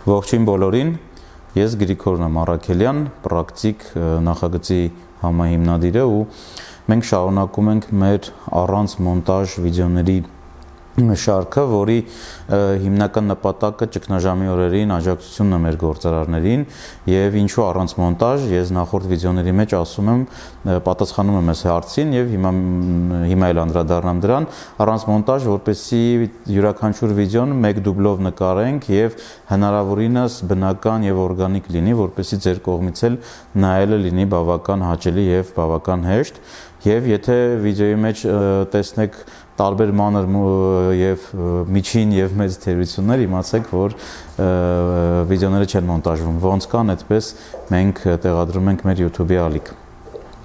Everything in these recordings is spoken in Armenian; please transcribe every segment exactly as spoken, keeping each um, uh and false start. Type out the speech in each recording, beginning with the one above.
Ողջույն բոլորին, ես Գրիգոր Մարաքելյան, պրակտիկ նախագծի համահիմնադիրը ու մենք շարունակում ենք մեր առանց մոնտաժ վիդեոների շարքը, որի հիմնական նպատակը ճգնաժամի օրերին աջակցությունն է մեր գործարարներին եւ ինչու առանց մոնտաժ, ես նախորդ վիդեոների մեջ ասում եմ, պատասխանում եմ այս հարցին եւ հիմա հիմա էլ անդրադառնամ դրան, առանց մոնտաժ, որպեսզի յուրաքանչյուր վիդեոն մեկ դուբլով նկարենք եւ հնարավորինս բնական եւ օրգանիկ լինի, որպեսզի ձեր կողմից էլ նայելը լինի բավական հաճելի եւ բավական հեշտ եւ եթե վիդեոյի մեջ տեսնեք տարբեր մանր եւ միջին եւ մեծ թերություններ, իմացեք, որ վիդեոները չեն մոնտաժվում, ոնց կան, այդպես մենք տեղադրում ենք մեր YouTube-ի ալիք։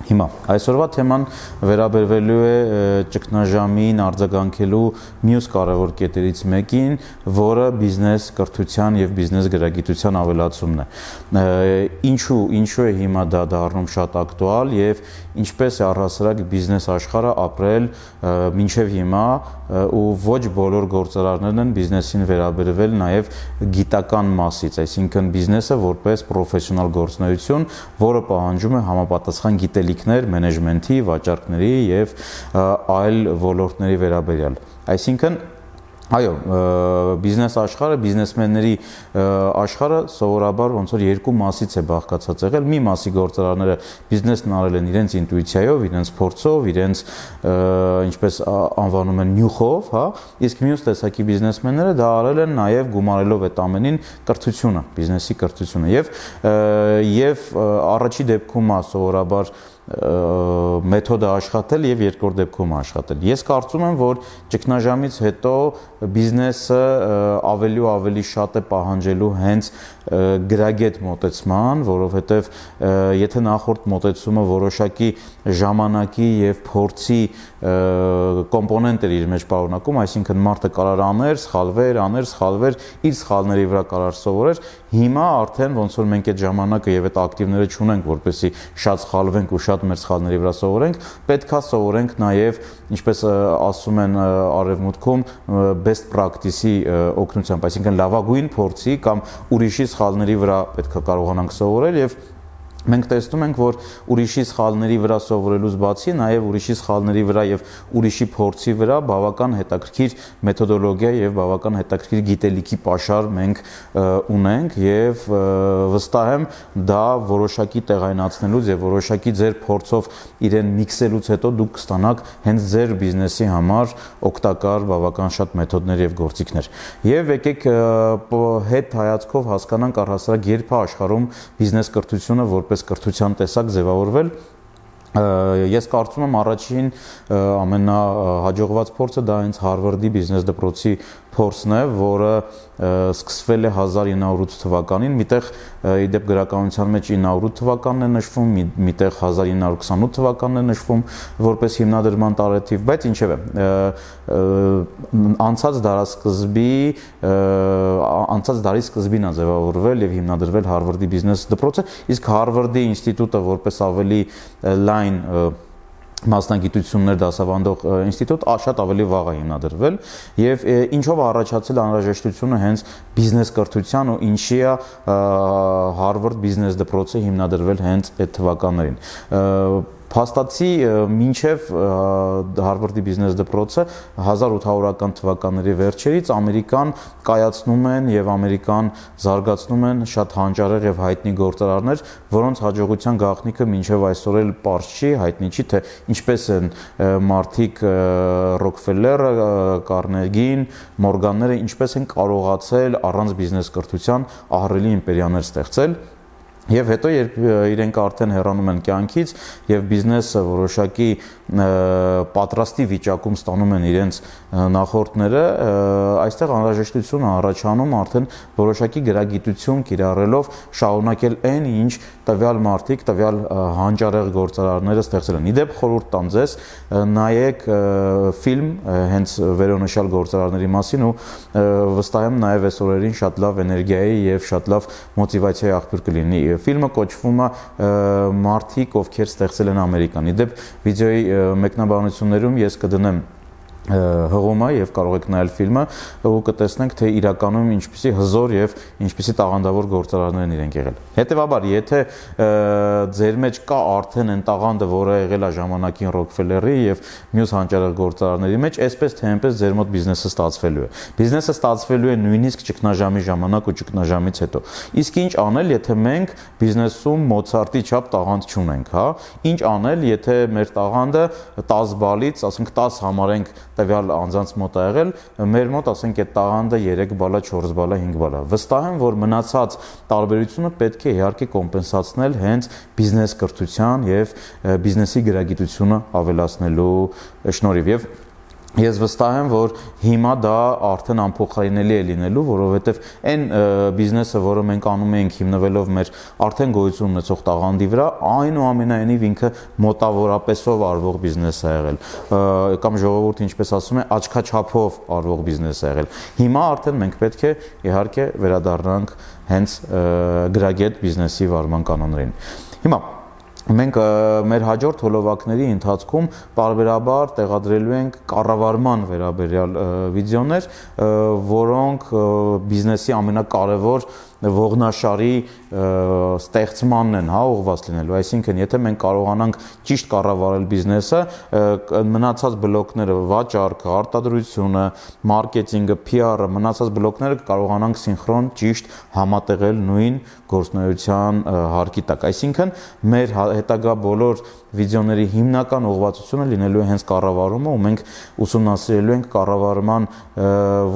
Հիմա այսօրվա թեման վերաբերվելու է ճգնաժամին արձագանքելու մյուս կարևոր կետերից մեկին, որը բիզնես կրթության եւ բիզնես գրագիտության ավելացումն է։ Ինչու, ինչու է հիմա դա դառնում շատ ակտուալ եւ ինչպես է առհասարակ բիզնես աշխարհը ապրել մինչեւ հիմա ու ոչ բոլոր գործարարներն են բիզնեսին վերաբերվել նաեւ գիտական մասից, այսինքն բիզնեսը որպես պրոֆեսիոնալ գործունեություն, որը պահանջում է համապատասխան գիտելիքներ մենեջմենթի, վաճառքների եւ այլ ոլորտների վերաբերյալ։ Այսինքն այո, բիզնես աշխարհը, բիզնեսմենների աշխարհը սովորաբար ոնց որ երկու մասից է բաղկացած եղել։ Մի մասի գործարարները բիզնեսն արել են իրենց ինտուիցիայով, իրենց փորձով, իրենց ինչպես անվանում են նյուխով, հա, իսկ մյուս տեսակի բիզնեսմենները դա արել են նաև գումարելով այդ ամենին կրթությունը, բիզնեսի կրթությունը եւ եւ առաջի դեպքում է սովորաբար մեթոդը աշխատել եւ երկրորդ դեպքում աշխատել։ Ես կարծում եմ, որ ճգնաժամից հետո բիզնեսը ավելի ու ավելի շատ է պահանջելու հենց գրագետ մոտեցման, որովհետեւ եթե նախորդ մոտեցումը որոշակի ժամանակի եւ փորձի կոմպոնենտ էր իր մեջ պարունակում, այսինքն մարդը կարար աներ, սխալվեր, աներ, սխալվեր, իր սխալների վրա կարար սովորեր, հիմա արդեն ոնց որ մենք այդ ժամանակը եւ այդ ակտիվները չունենք, որպեսզի շատ սխալվենք ու շատ մեր սխալների վրա սովորենք, պետքա սովորենք նաև, ինչպես ասում են արևմուտքում, best practice-ի օգնությամբ, այսինքն լավագույն փորձի կամ ուրիշի սխալների վրա պետքա կարողանանք սովորել եւ մենք տեսնում ենք, որ ուրիշի սխալների վրա սովորելուց բացի նաև ուրիշի սխալների վրա եւ ուրիշի փորձի վրա բավական հետաքրքիր մեթոդոլոգիա եւ բավական հետաքրքիր գիտելիքի պաշար մենք ունենք եւ վստահ եմ դա որոշակի տեղայնացնելուց եւ որոշակի ձեր փորձով իրեն միքսելուց հետո դուք կստանաք հենց ձեր բիզնեսի համար օգտակար բավական շատ մեթոդներ եւ գործիքներ։ Եվ եկեք հետ հայացքով հասկանանք առհասարակ երբ է աշխարհում բիզնես կրթությունը որպես կրթության տեսակ ձևավորվել։ Ես կարծում եմ առաջին ամենահաջողված փորձը դա հենց Հարվարդի բիզնես դպրոցի փորձն է, որը սկսվել է հազար ինը հարյուր ութ թվականին, միտեղ իդեպ գրականության մեջ ինը հարյուր ութ թվականն է նշվում, միտեղ հազար ինը հարյուր քսանութ թվականն է նշվում, որպես հիմնադրման տարեթիվ, բայց ինչևէ, անցած դարասկզբի, անցած դարի սկզբին է ձևավորվել եւ հիմնադրվել Հարվարդի բիզնես դպրոցը, իսկ Հարվարդի ինստիտուտը որպես ավելի լայն մասնագիտություններ դասավանդող ինստիտուտ շատ ավելի վաղ է հիմնադրվել եւ ինչով առաջացել անհրաժեշտությունը հենց բիզնես կրթության ու ինչի է Հարվարդ բիզնես դպրոցը հիմնադրվել հենց այդ թվականներին։ Փաստացի մինչև Հարվարդի բիզնես դպրոցը հազար ութ հարյուրական թվականների վերջերից Ամերիկան կայացնում են եւ Ամերիկան զարգացնում են շատ հանճարեղ եւ հայտնի գործարարներ, որոնց հաջողության գաղտնիքը մինչև այսօր էլ պարզ չի, հայտնի չի, թե ինչպես են մարդիկ Ռոքֆելլերը, Կարնեգին, Մորգանները ինչպես են կարողացել առանց բիզնես կրթության ահռելի իմպերիաներ ստեղծել։ Եվ հետո երբ իրենք արդեն հեռանում են կյանքից եւ բիզնեսը որոշակի պատրաստի վիճակում ստանում են իրենց նախորդները, այստեղ անհրաժեշտություն առաջանում արդեն որոշակի գրագիտություն կիրառելով շարունակել այն, ինչ տվյալ մարդիկ, տվյալ հանճարեղ գործարարները ստեղծել են։ Իդեպ խորհուրդ տամ ձեզ, նայեք ֆիլմ հենց վերոնշյալ գործարարների մասին ու վստահ եմ նաեւ այս օրերին շատ լավ էներգիայի եւ շատ լավ մոտիվացիայի աղբյուր կլինի։ Ֆիլմը կոչվում է Մարդիկ, ովքեր ստեղծել են Ամերիկան։ Իդեպ վիդեոյի մեկնաբանություններում ես կդնեմ հղումը եւ կարող եք նայել ֆիլմը ու կտեսնենք թե իրականում ինչպիսի հզոր եւ ինչպիսի տաղանդավոր գործարարներ են իրենք եղել։ Հետևաբար, եթե ձեր մեջ կա արդեն այն տաղանդը, որը եղել է ժամանակին Rockefeller-ի եւ մյուս հանճարեղ գործարարների մեջ, այսպես թե այնպես ձեր մոտ բիզնեսը ստացվելու է։ Բիզնեսը ստացվելու է նույնիսկ ճգնաժամի ժամանակ ու ճգնաժամից հետո։ Իսկ ինչ անել, եթե մենք բիզնեսում Մոցարտի չափ տաղանդ չունենք, հա։ Ինչ անել, եթե մեր տաղանդը տասը բալից, ասենք տասը համարենք տվյալ անձանց մոտ ա եղել, մեր մոտ ասենք այդ տաղանդը երեք բալա, չորս բալա, հինգ բալա։ Վստահ եմ, որ մնացած տարբերությունը պետք է իհարկե կոմպենսացնել հենց բիզնես կրթության եւ բիզնեսի գրագիտությունը ավելացնելու շնորհիվ։ Եվ ես վստահ եմ, որ հիմա դա արդեն անփոխարինելի է լինելու, որովհետև այն բիզնեսը, որը մենք անում ենք հիմնվելով մեր արդեն գոյություն ունեցող տաղանդի վրա, այնուամենայնիվ ինքը մոտավորապես արվող բիզնես է եղել, կամ ժողովուրդը ինչպես ասում է, աչքաչափով արվող բիզնես է եղել։ Հիմա արդեն մենք պետք է իհարկե վերադառնանք հենց գրագետ բիզնեսի վարման կանոններին։ Հիմա մենք մեր հաջորդ հոլովակների ընթացքում պարբերաբար տեղադրելու ենք կառավարման վերաբերյալ վիդեոներ, որոնք բիզնեսի ամենակարևոր ողնաշարի ստեղծմանն են, հա, ուղղված լինելու։ Այսինքն, եթե մենք կարողանանք ճիշտ կառավարել բիզնեսը, մնացած բլոկները, վաճառքը, արտադրությունը, մարքեթինգը, P R-ը, մնացած բլոկները կարողանանք սինխրոն ճիշտ համատեղել նույն գործունեության հարկի տակ։ Այսինքն, մեր հետագա բոլոր վիդեոների հիմնական ուղղվածությունը լինելու է հենց կառավարումը, ու մենք ուսումնասիրելու ենք կառավարման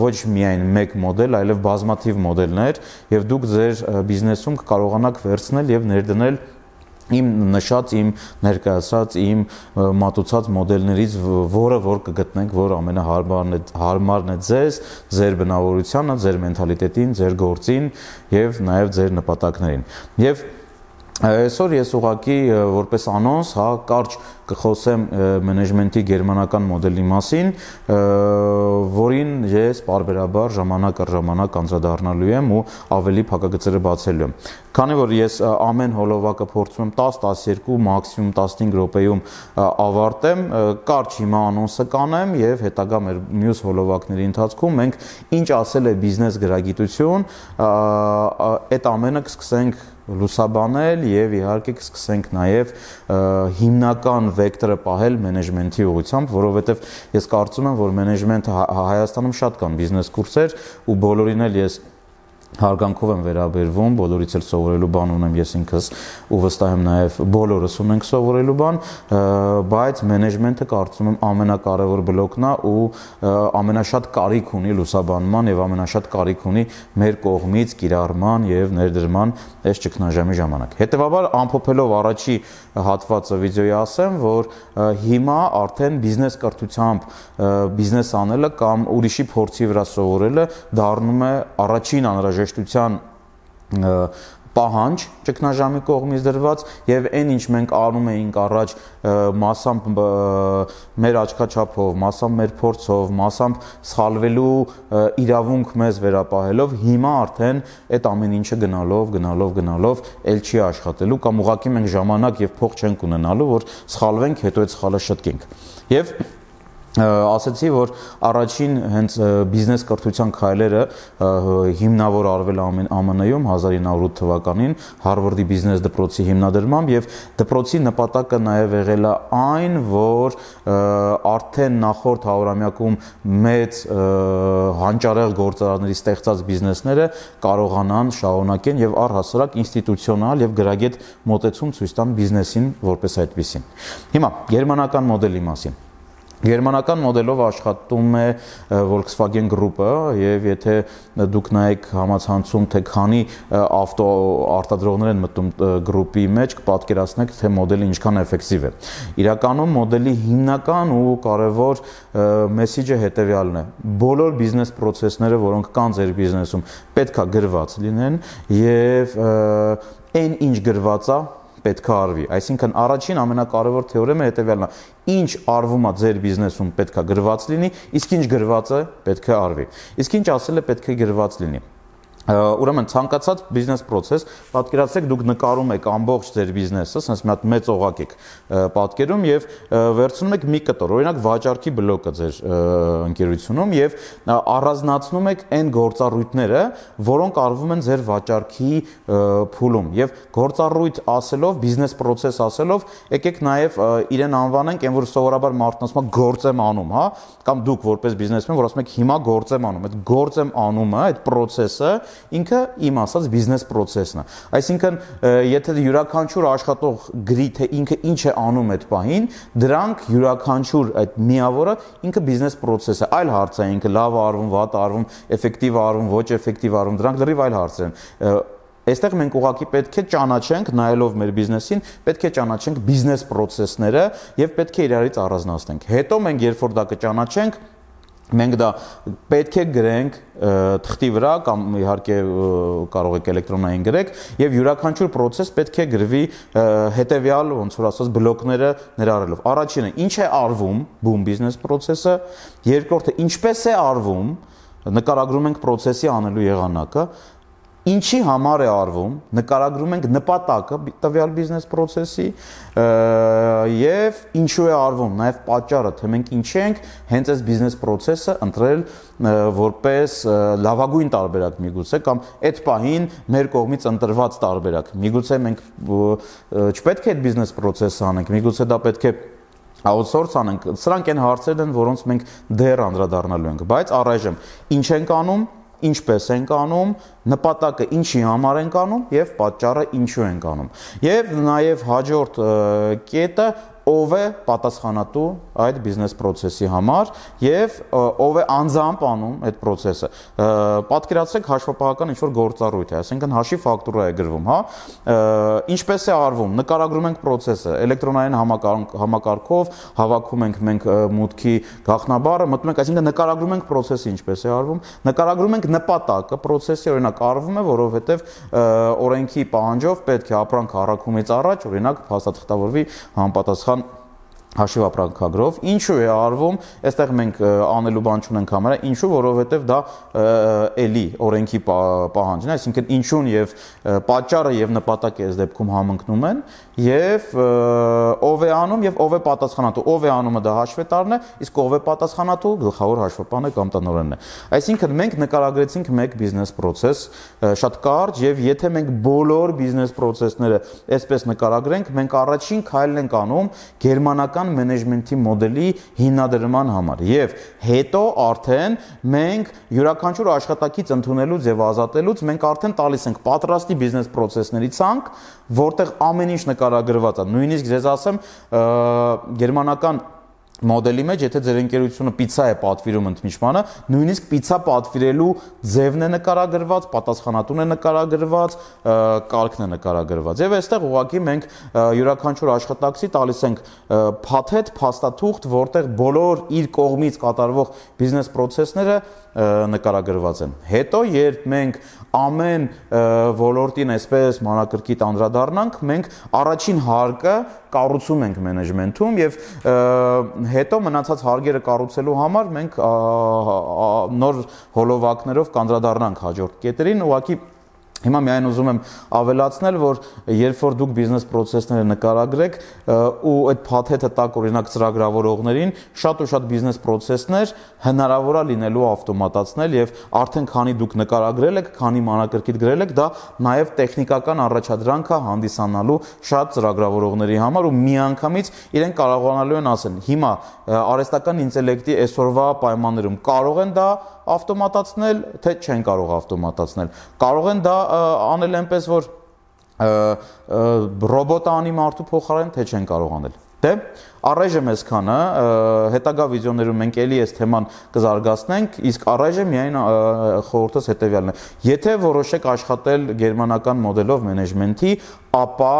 ոչ միայն մեկ մոդել, այլև բազմաթիվ մոդելներ, եւ դուք ձեր բիզնեսում կարողանաք վերցնել եւ ներդնել իմ նշած, իմ ներկայացած, իմ մատուցած մոդելներից, որը որ կգտնենք, որ ամենահարմարն է, հարմարն է ձեզ, ձեր բնավորությանը, ձեր մենթալիտետին, ձեր գործին եւ նաեւ ձեր նպատակներին։ Եվ այսօր ես ուղղակի որպես անոնս, հա, կարճ կխոսեմ մենեջմենթի գերմանական մոդելի մասին, որին ես պարբերաբար ժամանակ առ ժամանակ անդրադառնալու եմ ու ավելի փակագծերը բացելու եմ։ Քանի որ ես ամեն հոլովակը փորձում եմ տասը տասներկու, մաքսիմում տասնհինգ րոպեում ավարտեմ, կարճ հիմա անոնսը կանեմ եւ հետագա մեր մյուս հոլովակների ընթացքում մենք ինչ ասել է բիզնես գրագիտություն, այդ ամենը կսկսենք լուսաբանել եւ իհարկե կսկսենք նաեւ հիմնական վեկտորը պահել մենեջմենթի ուղղությամբ, որովհետեւ ես կարծում եմ, որ մենեջմենթը Հայաստանում շատ կան բիզնես կուրսեր ու բոլորին էլ ես հարգանքով եմ վերաբերվում, բոլորից էլ սովորելու բան ունեմ ես ինքս ու վստահ եմ նաև բոլորս ունենք սովորելու բան, բայց մենեջմենթը կարծում եմ ամենակարևոր բլոկն է ու ամենաշատ կարիք ունի լուսաբանման եւ ամենաշատ կարիք ունի մեր կողմից կիրառման եւ ներդրման այս ճգնաժամի ժամանակ։ Հետևաբար ամփոփելով առաջի հատվածը վիդեոյի ասեմ, որ հիմա արդեն բիզնես կրթությամբ բիզնես անելը կամ ուրիշի փորձի վրա սովորելը դառնում է առաջին անհրաժեշտության պահանջ ճգնաժամի կողմից դրված եւ այն ինչ մենք անում էինք առաջ մասամբ մեր աչքաչափով, մասամբ մեր փորձով, մասամբ սխալվելու իրավունք մեզ վերապահելով, հիմա արդեն այդ ամեն ինչը գնալով, գնալով, գնալով ել չի աշխատելու կամ ուղղակի մենք ժամանակ եւ փող չենք ունենալու, որ սխալվենք, հետո այդ սխալը շտկենք։ Եվ ասացի, որ առաջին հենց բիզնես կրթության քայլերը հիմնավոր արվել Է Am N-ում հազար ինը հարյուր ութ թվականին Հարվարդի բիզնես դպրոցի հիմնադրմամբ եւ դպրոցի նպատակը նաեւ եղել է այն, որ արդեն նախորդ հարյուրամյակում մեծ հանճարեղ գործարանների ստեղծած բիզնեսները կարողանան շարունակեն եւ առհասարակ ինստիտուցիոնալ եւ գրագետ մոտեցում ցույց տան բիզնեսին որպես այդպեսին։ Հիմա գերմանական մոդելի մասին։ Գերմանական մոդելով աշխատում է Volkswagen Group-ը եւ եթե դուք նայեք համացանցում թե քանի ավտո արտադրողներ են մտնում գրուպի մեջ, կպատկերացնեք թե մոդելը ինչքան էֆեկտիվ է։ Իրականում մոդելի հիմնական ու կարևոր մեսեջը հետեւյալն է. բոլոր բիզնես process-ները, որոնք կան ձեր բիզնեսում, պետքա գրված լինեն եւ այն ինչ գրված է պետք է արվի։ Այսինքն առաջին ամենակարևոր թեորեմը հետևյալն է. ինչ արվում է ձեր բիզնեսում պետք է գրված լինի, իսկ ինչ գրված է պետք է արվի։ Իսկ ինչ ասել է պետք է գրված լինի։ Ուրեմն ցանկացած բիզնես process, պատկերացրեք դուք նկարում եք ամբողջ ձեր բիզնեսը, ասես մի հատ մեծ օղակ եք պատկերում եւ վերցնում եք մի կտոր, օրինակ վաճառքի բլոկը ձեր ընկերությունում եւ առանձնացնում եք այն գործառույթները, որոնք արվում են ձեր վաճառքի փուլում եւ գործառույթ ասելով, բիզնես process ասելով, եկեք նաեւ իրեն անվանենք, այն որ սովորաբար մարդն ասում է գործ եմ անում, հա, կամ դուք որպես բիզնեսմեն, որ ասում եք հիմա գործ եմ անում, այդ գործ եմ անումը, այդ process-ը ինքը իմ ասած բիզնես process-ն է։ Այսինքն, եթե յուրաքանչյուր աշխատող գրի թե ինքը ինչ է անում այդ պահին, դրանք յուրաքանչյուր այդ միավորը ինքը բիզնես process է։ Այլ հարց է, ինքը լավ է արվում, վատ է արվում, էֆեկտիվ է արվում, ոչ էֆեկտիվ է արվում, դրանք լրիվ այլ հարցեր են։ Այստեղ մենք ուղղակի պետք է ճանաչենք, նայելով մեր բիզնեսին, պետք է ճանաչենք բիզնես process-ները եւ պետք է իրարից առանձնացնենք։ Հետո մենք երբ որ դա կճանաչենք, մենք դա պետք է գրենք թղթի վրա կամ իհարկե կարող եք էլեկտրոնային գրեք եւ յուրաքանչյուր process պետք է գրվի հետեւյալ ոնց որ ասած բլոկները ներառելով։ Առաջինը ինչ է արվում boom business process-ը, երկրորդը ինչպես է արվում, նկարագրում ենք process-ի անելու եղանակը, ինչի համար է արվում, նկարագրում ենք նպատակը տվյալ բիզնես process-ի եւ ինչու է արվում, նաեւ պատճառը, թե մենք ինչ ենք հենց այս բիզնես process-ը ընտրել որպես լավագույն տարբերակ միգուցե կամ այդ պահին մեր կողմից ընտրված տարբերակ։ Միգուցե մենք չպետք է այդ բիզնես process-ը անենք, միգուցե դա պետք է outsource անենք։ Սրանք այն հարցերն են, որոնց մենք դեռ անդրադառնալու ենք, բայց առայժմ ինչ ենք անում, ինչպես ենք անում, նպատակը ինչի համար ենք անում եւ պատճառը ինչու ենք անում։ Եվ նաեւ հաջորդ կետը ով է պատասխանատու այդ բիզնես process-ի համար եւ ով է անձամբ անում այդ process-ը։ Պատկերացրեք հաշվապահական ինչ-որ գործառույթ է, այսինքն հաշվի ֆակտուրա է գրվում, հա։ Ինչպես է արվում, նկարագրում ենք process-ը, էլեկտրոնային համակարգով հավաքում ենք մենք մուտքի գաղտնաբառը, մտնում ենք, այսինքն նկարագրում ենք process-ը ինչպես է արվում, նկարագրում ենք նպատակը process-ի, օրինակ արվում է, որովհետեւ օրենքի պահանջով պետք է ապրանք առաքումից առաջ, օրինակ, փաստաթղթավորվի համապատասխան հաշիվ ապրանքագրով, ինչու է արվում, այստեղ մենք անելու բան չունենք համարը, ինչու, որովհետև դա էլի օրենքի պահանջն է, այսինքն ինչուն եւ պատճառը եւ նպատակը այս դեպքում համընկնում են եւ ով է անում եւ ով է պատասխանատու, ով է անումը դա հաշվետարն է, իսկ ով է պատասխանատու, գլխավոր հաշվապահն է կամ տնօրենն է։ Այսինքն մենք նկարագրեցինք մեկ բիզնես process շատ կարճ եւ եթե մենք բոլոր բիզնես process-ները այսպես նկարագրենք, մենք առաջին քայլն ենք անում գերմանական մենեջմենթի մոդելի հիմնադրման համար եւ հետո արդեն մենք յուրաքանչյուր աշխատակից ընդունելուց եւ ազատելուց մենք արդեն տալիս ենք պատրաստի բիզնես process-ների ցանկ, որտեղ ամեն ինչ նկարագրված է։ Նույնիսկ ձեզ ասեմ, գերմանական մոդելի մեջ, եթե ձեր ընկերությունը պիցա է պատվիրում ընդմիջմանը, նույնիսկ պիցա պատվիրելու ձևն է նկարագրված, պատասխանատուն է նկարագրված, կարգն է նկարագրված։ Եվ այստեղ ուղղակի մենք յուրաքանչյուր աշխատակցի տալիս ենք փաթեթ, փաստաթուղթ, որտեղ բոլոր իր կողմից կատարվող բիզնես process-ները նկարագրված են։ Հետո երբ մենք ամեն ոլորտին այսպես մանրակրկիտ անդրադառնանք, մենք առաջին հարկը կառուցում ենք մենեջմենթում եւ հետո մնացած հարկերը կառուցելու համար մենք նոր հոլովակներով կանդրադառնանք հաջորդ կետերին, ուղղակի Հիմա միայն ուզում եմ ավելացնել, որ երբ որ դուք բիզնես process-ները նկարագրեք ու այդ փաթեթը տակ օրինակ ծրագրավորողներին, շատ ու շատ բիզնես process-ներ հնարավոր է լինելու ավտոմատացնել եւ արդեն քանի դուք նկարագրել եք, քանի մանրակրկիտ գրել եք, դա նաեւ տեխնիկական առաջադրանք է հանդիսանալու շատ ծրագրավորողների համար ու միանգամից իրեն կարողանալու են ասեն. հիմա արհեստական ինտելեկտի այսօրվա պայմաններում կարող են դա ավտոմատացնել, թե չեն կարող ավտոմատացնել։ Կարող են դա անել այնպես, որ ռոբոտը անի մարդու փոխարեն, թե չեն կարող անել։ Դե առայժմ այսքանը, հետագա վիդեոներում մենք էլի այս թեման կզարգացնենք, իսկ առայժմ միայն խորհուրդս հետևյալն է. Եթե որոշեք աշխատել գերմանական մոդելով մենեջմենթի, ապա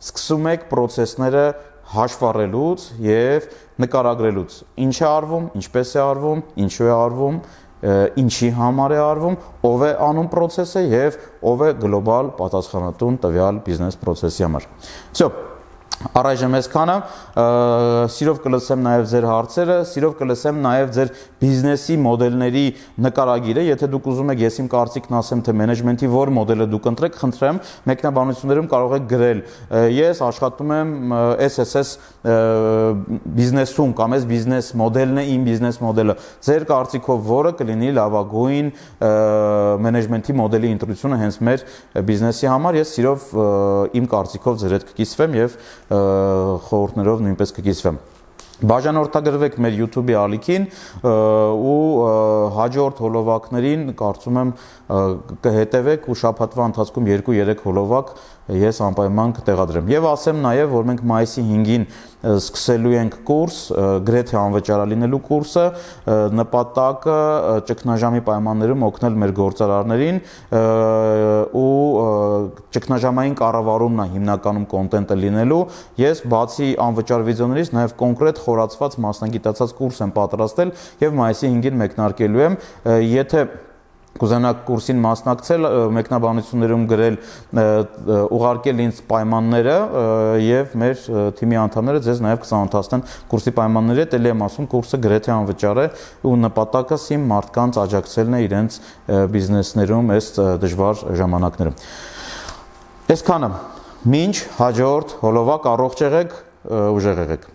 սկսում եք process-ները հաշվառելուց եւ նկարագրելուց։ Ինչ է արվում, ինչպես է արվում, ինչու է արվում, ինչի համար է արվում, ով է անում process-ը եւ ով է գլոբալ պատասխանատուն տվյալ բիզնես process-ի համար։ Всё, Առայժմ այսքանը, սիրով կլսեմ նաև ձեր հարցերը, սիրով կլսեմ նաև ձեր բիզնեսի մոդելների նկարագիրը, եթե դուք ուզում եք ես իմ կարծիքն ասեմ, թե մենեջմենթի որ մոդելը դուք ընտրեք, խնդրեմ, մեկնաբանություններում կարող եք գրել, ես աշխատում եմ էս էս էս բիզնեսում կամ այս բիզնես մոդելն է իմ բիզնես մոդելը, ձեր կարծիքով որը կլինի լավագույն մենեջմենթի մոդելի ընտրությունը հենց մեր բիզնեսի համար, ես սիրով իմ կարծիքով ձեր հետ կկիսվեմ եւ խորհուրդներով նույնպես կկիսվեմ։ Բաժանորդագրվեք մեր YouTube-ի ալիքին ու հաջորդ հոլովակներին կարծում եմ կհետևեք ու շաբաթվա ընթացքում երկու երեք հոլովակ ես անպայման կտեղադրեմ։ Եվ ասեմ նաև, որ մենք մայիսի հինգին սկսելու ենք կուրս, գրեթե անվճարալինելու կուրսը, նպատակը ճգնաժամի պայմաններում օգնել մեր գործարարներին ու ճգնաժամային կառավարումն է հիմնականում կոնտենտը լինելու։ Ես բացի անվճար վիդեոներից նաև կոնկրետ խորացված մասնագիտացած կուրս եմ պատրաստել եւ մայիսի հինգին մեկնարկելու եմ։ Եթե կուզենաք կուրսին մասնակցել, մեկնաբանություններում գրել, ուղարկել ինձ պայմանները եւ մեր թիմի անդամները ձեզ նաեւ կծանոթացնեն կուրսի պայմանների հետ, ելի եմ ասում, կուրսը գրեթե անվճար է ու նպատակս իմ մարդկանց աջակցելն է իրենց բիզնեսներում այս դժվար ժամանակներում։ Այսքանը, մինչ հաջորդ հոլովակ, առողջ եղեք, ուժեղ եղեք։